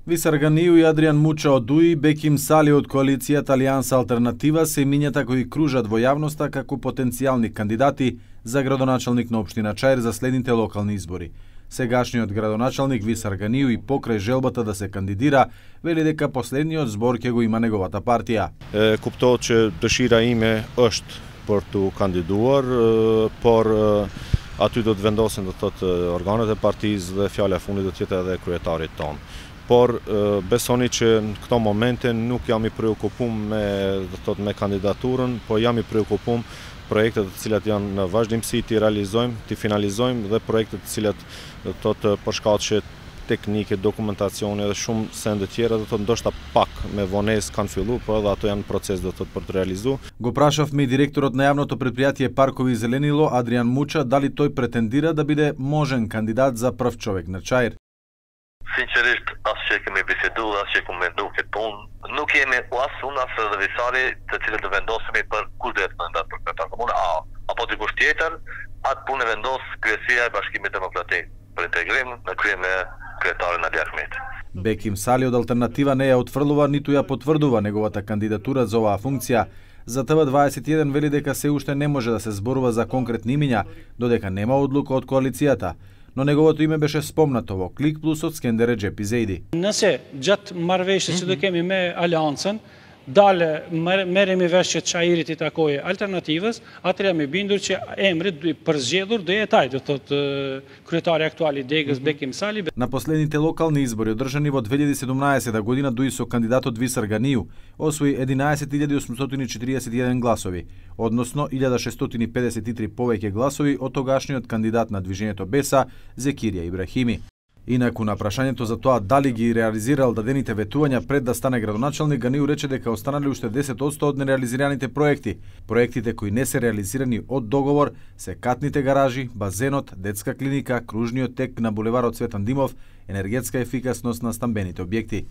Висар Ганију и Адриан Муча од ДУИ, Беким Сали од коалицијата Алијанса Алтернатива се имињата кои кружат во јавноста како потенцијални кандидати за градоначалник на општина Чаир за следните локални избори. Сегашниот градоначалник Висар Ганију и покрај желбата да се кандидира, вели дека последниот збор ќе го има неговата партија. Куптоhet që dëshira ime është për të kandiduar, por aty do të vendosen do të thotë organet e partisë dhe fjala e fundit do të jetë edhe kryetarit ton. Por besoni që në këto momente nuk jam i preokupum me kandidaturën, po jam i preokupum projektet të cilat janë në vazhdimsi t'i realizojmë, t'i finalizojmë dhe projektet të cilat do të thotë për shkaqe teknike, dokumentacione dhe shumë sende tjera do të thotë ndoshta pak me vonesë kanë filluar, por edhe ato janë proces do të thotë për të realizuar. Го прашавме и директорот на јавното предпријатие Паркови Зеленило Адриан Муча дали тој претендира да биде можен кандидат за прв човек на Чаир. Sinqerisht, asë që kemi bisedu dhe asë që kemi mendu këtë punë, nuk jemi as unë as edhe Visari të cilët të vendosemi për kush do të kandidat për kryetar komune, apo dikush tjetër, atë punë vendos kryesia e Bashkimit Demokratik për integrim në krye me kryetarin Ali Ahmet. Беким Сали од Алтернатива не ја отфрлува ниту ја потврдува неговата кандидатура за оваа функција. За ТВ21 вели дека се уште не може да се зборува за конкретни имиња, додека нема одлука од коалицијата. Но неговото име беше спомнато во Клик Плюс од Скендер Реджепи Зейди. Nëse gjatë marrëveshjes që do kemi me Aleancën, dalë merremi vesh që Çairit i takojë Alternativës, atëherë jam i bindur që emri përzgjedhur do jetë ai, do thotë kryetari aktual i Degës Bekim Sali. На последните локални избори одржани во 2017 година ДУИ со кандидатот Висар Ганију освои 11.841 гласови, односно 1653 повеќе гласови од тогашниот кандидат на Движењето Беса Зекирија Ибрахими. Инаку на прашањето за тоа дали ги реализирал дадените ветувања пред да стане градоначалник, Ганију рече дека останале уште 10% од нереализираните проекти. Проектите кои не се реализирани од договор се катните гаражи, базенот, детска клиника, кружниот тек на булеварот Цветан Димов, енергетска ефикасност на стамбените објекти.